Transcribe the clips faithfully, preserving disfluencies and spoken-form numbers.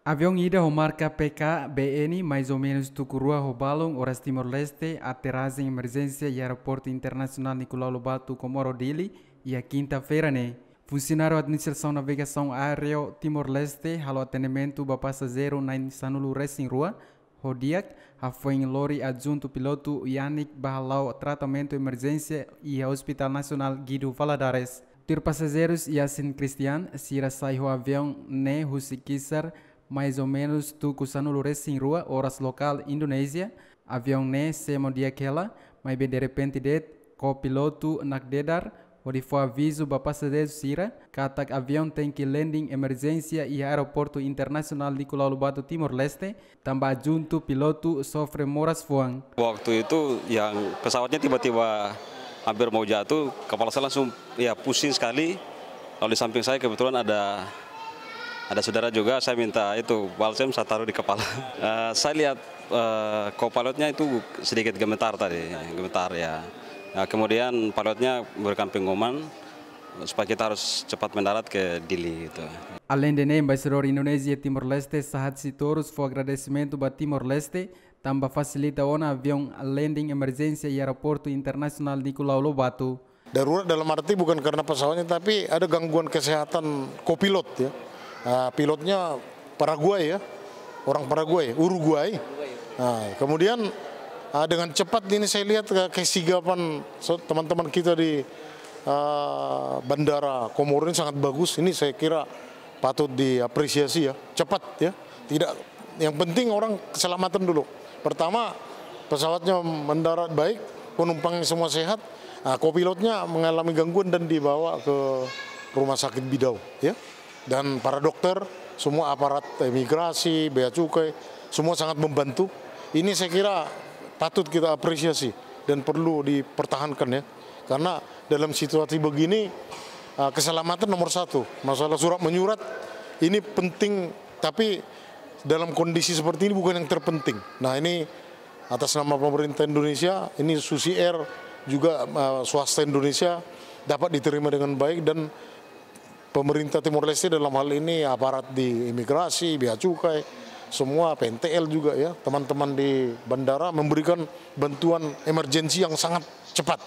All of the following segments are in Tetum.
Aviaun ida ho marka P K B N, mais ou menus tuku rua ho balun, oras Timor-Leste, aterrajen emerjénsia iha Aeroportu Internasionál Nicolau Lobato, Comoro, Dili, iha kinta-feira ne'e. Funsionáriu Administrasaun Navegasaun Aérea Timor-Leste halo atendimentu ba pasajeiru na'in sanulu resin rua, ho di'ak, hafoin lori adjuntu pilotu Yanik ba hala'o tratamentu emerjénsia iha Hospital Nasionál Guido Valadares. Tuir pasajeirus Yasin Christian, sira sai ho aviaun ne'e husi Kisar, mais ou menus tuku sanulu resin rua, oras lokál Indonézia. Aviaun ne'e semo di'ak hela, maibé derrepente de'it, kopilotu nakdedar, hodi fó avizu ba pasajeiru sira katak aviaun tenke landing emerjénsia iha Aeroportu Internasionál Nicolau Lobato, Timor-Leste, tanba adjuntu pilotu sofre moras fuan. Waktu itu yang pesawatnya tiba-tiba hampir mau jatuh, kepala saya langsung, ya, pusing sekali. Lalu di samping saya kebetulan ada ada saudara juga, saya minta itu balsem, saya taruh di kepala. Eh, saya lihat, eh, co-pilotnya itu sedikit gemetar tadi, gemetar, ya. Nah, kemudian pilotnya memberikan pengumuman supaya kita harus cepat mendarat ke Dili gitu. Aleinde ne'e, Embaixadór Indonézia Timor-Leste, Sahat Sitorus, fó agradesimentu ba Timor-Leste tanba fasilita ona aviaun landing emerjénsia iha Aeroportu Internasionál Nicolau Lobato. Darurat dalam arti bukan karena pesawatnya, tapi ada gangguan kesehatan kopilot, ya. Ah, pilotnya Paraguay, ya, orang Paraguay, Uruguay. Nah, kemudian, ah, dengan cepat ini saya lihat ke-, kesigapan so-, teman-teman kita di, ah, Bandara Komoro ini sangat bagus. Ini saya kira patut diapresiasi, ya, cepat, ya. Tidak, yang penting orang keselamatan dulu. Pertama, pesawatnya mendarat baik, penumpangnya semua sehat, nah, kopilotnya mengalami gangguan dan dibawa ke Rumah Sakit Bidau, ya. Dan para dokter, semua aparat imigrasi, bea cukai, semua sangat membantu. Ini saya kira patut kita apresiasi dan perlu dipertahankan, ya. Karena dalam situasi begini, ah, keselamatan nomor satu. Masalah surat menyurat ini penting, tapi dalam kondisi seperti ini bukan yang terpenting. Nah, ini atas nama pemerintah Indonesia, ini Susi Air juga, ah, swasta Indonesia dapat diterima dengan baik dan pemerintah Timor Leste dalam hal ini aparat di imigrasi, bea cukai, semua P N T L juga, ya, teman-teman di bandara memberikan bantuan emergensi yang sangat cepat.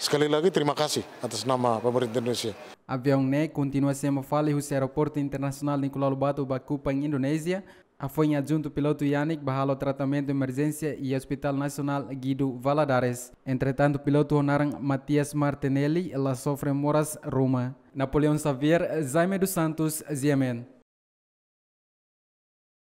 Sekali lagi terima kasih atas nama pemerintah Indonesia. Aviaun ne'e kontinua semo fali husi Aeroportu Internasionál Nicolau Lobato ba Kupang, Indonézia, hafoin adjuntu pilotu Yanik ba halo tratamentu emerjénsia iha Hospital Nasionál Guido Valadares. Entretantu, pilotu ho naran Matias Martinelli la sofre moras ruma. Napoleão Xavier, Jaime dos Santos, G M N.